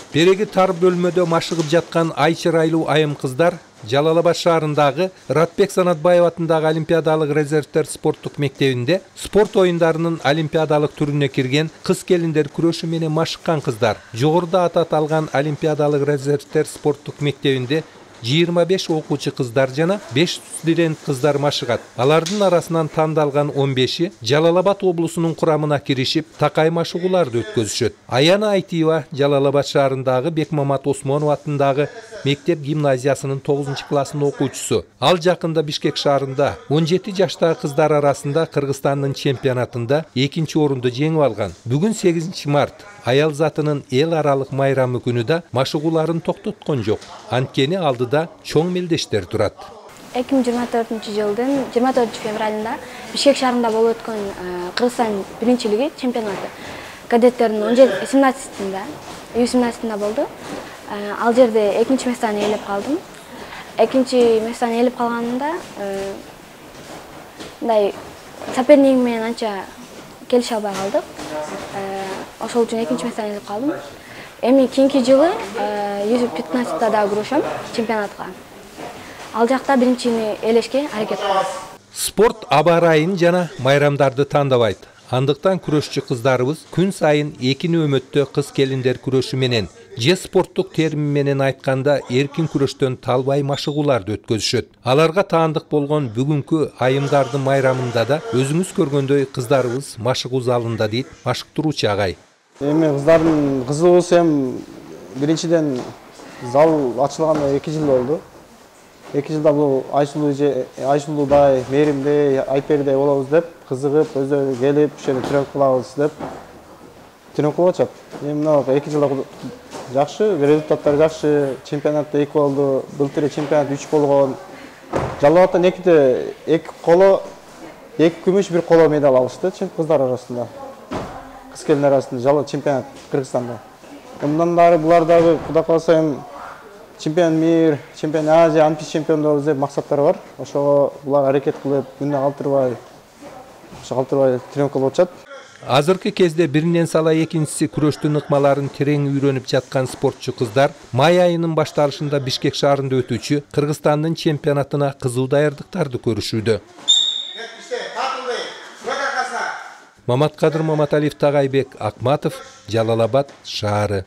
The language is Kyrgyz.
Береги тар бөлмөдө машыгып жаткан ай чырайлуу айым кыздар Жалал-Абад шаарындагы Ратбек Санатбаев атындагы Олимпиадалык резервдер спорттук мектебинде спорт оюндарынын олимпиадалык түрүнө кирген кыз келиндер күрөшү менен машыккан кыздар. Жогоруда аты аталган Олимпиадалык резервдер спорттук мектебинде 25 окуучу кыздар жана 5 студент кыздар машыгат. Алардын арасынан тандалган 15-и Жалал-Абад облусунун курамына киришип, такай машыгууларды өткөзүшөт. Аяна Айтиева Жалал-Абад шаарындагы Бекмамат Осмонов атындагы мектеп гимназиясынын 9-классынын окуучусу. Ал жакында Бишкек шаарында 17 жаштагы кыздар арасында Кыргызстандын чемпионатында 2-орунду жеңип алган. Бүгүн 8 март аял затынын эл аралык майрамы күнү да машыгууларын токтоткон жок. Анткени алдыда чоң мелдештер турат. 2024-жылдын 24-февралында Бишкек шаарында болуп өткөн Кыргызстан биринчилиги чемпионаты кадеттердин 17-18-синде, U17-синде болду. Ал жерде 2-местаны ээлеп калдым. 2-местаны ээлеп калганымда мындай сопернигим менен анча келише албай калдык. Ошол үчүн 2-местаны ээлеп калдым. Эми кийинки жылы U15-да да күрөшөм чемпионатка. Ал жакта биринчини ээлешке аракет кылам. Спорт аба ырайын жана майрамдарды тандабайт. Андыктан күрөшчү кыздарыбыз күн сайын экини өмөттө кыз келиндер күрөшү менен же спорттук терим менен айтканда эркин күрөштөн талбай машыгууларды өткөзүшөт. Аларга таандык болгон бүгүнкү айымдардын майрамында да өзүңүз көргөндөй кыздарыбыз машыгуу залында дейт машыктыруучу агай. Эми кыздардын кызыгуусу биринчиден зал ачылганда 2 жыл болду. 2 жылда бул Айсулуудай, Мээримдей, Айпердей болобуз деп кызыгып, өздөрү келип, ошол жерде тренировка кылабыз деп тренировка кылып атышат. Эми мына 2 жылда жакшы, результаттар жакшы. Чемпионатта 2 болду, былтыр чемпионат 3 болгон. Жалал-Абадтан 2 коло, 2 күмүш, 1 коло медаль алышты кыздар арасында. Кыз келиндер арасында чемпионат Кыргызстанда. Мындан дагы булар дагы Кудай кааласа чемпион мир, чемпион Азия, Олимпийский чемпиондор деп максаттары бар. Ошого булар аракет кылып, күндө калтырбай тренировка кылып атышат. Азыркы кезде биринен сала экинчиси күрөштүн ыкмаларын терең үйрөнүп жаткан спортчу кыздар май айынын башталышында Бишкек шаарында өтүүчү Кыргызстандын чемпионатына кызуу даярдыктарды көрүшүүдө. Маматкадыр Маматалиев, Тагайбек Акматов, Жалал-Абад шаары.